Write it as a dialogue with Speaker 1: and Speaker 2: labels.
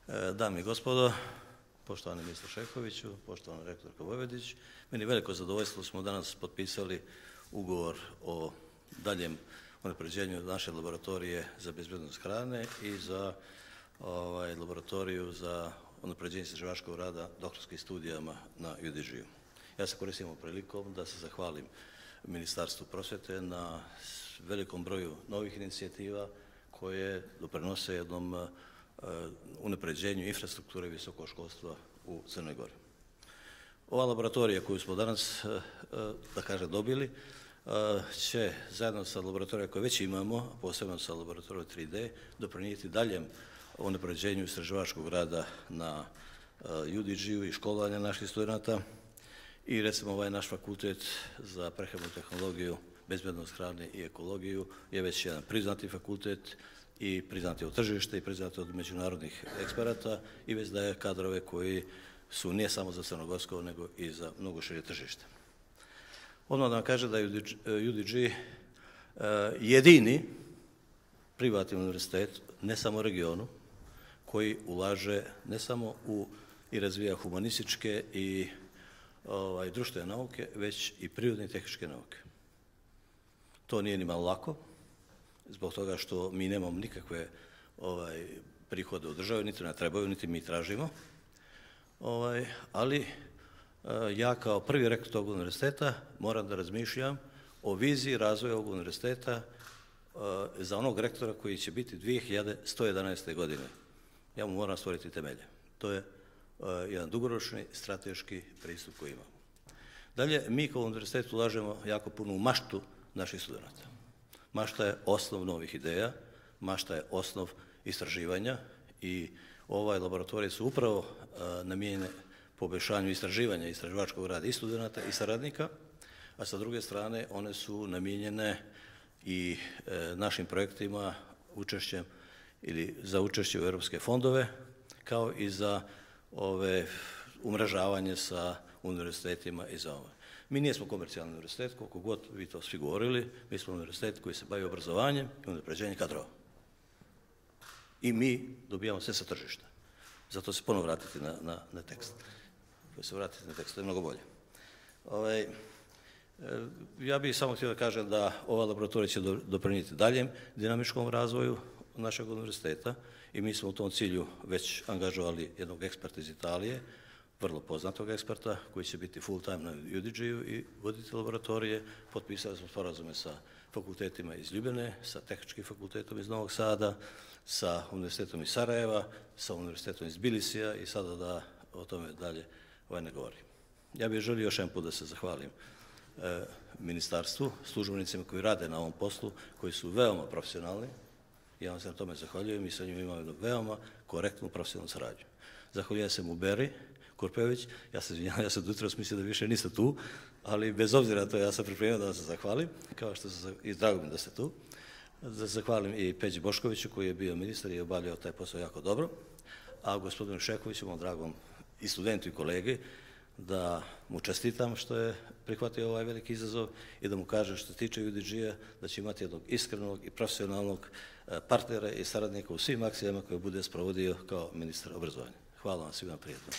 Speaker 1: Dame i gospodo, poštovani ministar Šehoviću, poštovana rektorka Vojvodić, meni veliko zadovoljstvo smo danas potpisali ugovor o daljem unapređenju naše laboratorije za bezbednost hrane i za laboratoriju za unapređenje istraživačkog rada doktorskim studijama na UDG-u. Ja se koristim ovom prilikom da se zahvalim Ministarstvu prosvjete na velikom broju novih inicijativa koje doprinose jednom unapređenju infrastrukture visokog školstva u Crnoj Gori. Ova laboratorija koju smo danas, da kažem, dobili, će zajedno sa laboratorijom koje već imamo, posebno sa laboratorijom 3D, doprinijeti daljem unapređenju istraživačkog rada na UDG-u i školovanja naših studenata. I recimo ovaj naš fakultet za prehrambenu tehnologiju, bezbednost hrane i ekologiju je već jedan priznati fakultet i priznati od tržišta i priznati od međunarodnih eksperata i već daje kadrove koji su ne samo za crnogorsko nego i za mnogo šire tržište. Odmah da vam kažem da je UDG jedini privatni univerzitet, ne samo u regionu, koji ulaže ne samo u i razvija humanističke i društvene nauke, već i prirodne i tehničke nauke. To nije ni malo lako, zbog toga što mi nemamo nikakve prihode u državi, niti nam trebaju, niti mi tražimo. Ali ja kao prvi rektor tog univerziteta moram da razmišljam o viziji razvoja ovog univerziteta za onog rektora koji će biti 2111. godine. Ja mu moram stvoriti temelje. To je jedan dugoročni strateški pristup koji imamo. Dalje, mi kao univerzitet ulažemo jako puno u maštu naših studenata. Mašta je osnov novih ideja, mašta je osnov istraživanja i ovaj laboratorij su upravo namijenjene poboljšanju istraživanja i istraživačkog rada i studenata i saradnika, a sa druge strane one su namijenjene i našim projektima učešćem ili za učešće u europske fondove, kao i za umrežavanje sa univerzitetima i za ovo. Mi nismo komercijalni univerzitet, koliko god vi to svi govorili, mi smo univerzitet koji se bavi obrazovanjem i unapređenjem kadrova. I mi dobijamo sve sa tržišta. Zato se ponovno vratiti na tekst. To je mnogo bolje. Ja bih samo htio da kažem da ova laboratorija će doprinijeti daljem dinamičkom razvoju našeg univerziteta i mi smo u tom cilju već angažovali jednog eksperta iz Italije, vrlo poznatog eksperta koji će biti full time na UDG-u i voditi laboratorije. Potpisali smo sporazume sa fakultetima iz Ljubljane, sa tehničkim fakultetom iz Novog Sada, sa univerzitetom iz Sarajeva, sa univerzitetom iz Tbilisija i sada da o tome dalje ne govorim. Ja bih želio još jedan put da se zahvalim ministarstvu, službenicima koji rade na ovom poslu, koji su veoma profesionalni. Ja vam se na tome zahvaljujem i sa njima imam jednu veoma korektnu profesionalnu saradnju. Zahvaljujem se Muberi Kurpević, ja se izvinjavam, ja sam jutros mislio da više niste tu, ali bez obzira na to ja sam pripremio da vam se zahvalim, kao što sam i drago mi da ste tu. Da zahvalim i Peđi Boškoviću koji je bio ministar i obavljao taj posao jako dobro, a gospodinu Šehoviću, mom dragom i studentu i kolegi, da mu čestitam što je prihvatio ovaj veliki izazov i da mu kažem što se tiče UDG-a da će imati jednog iskrenog i profesionalnog partnera i saradnika u svim akcijama koje bude sprovodio kao ministar obrazovanja. Hvala vam svima, prijatno.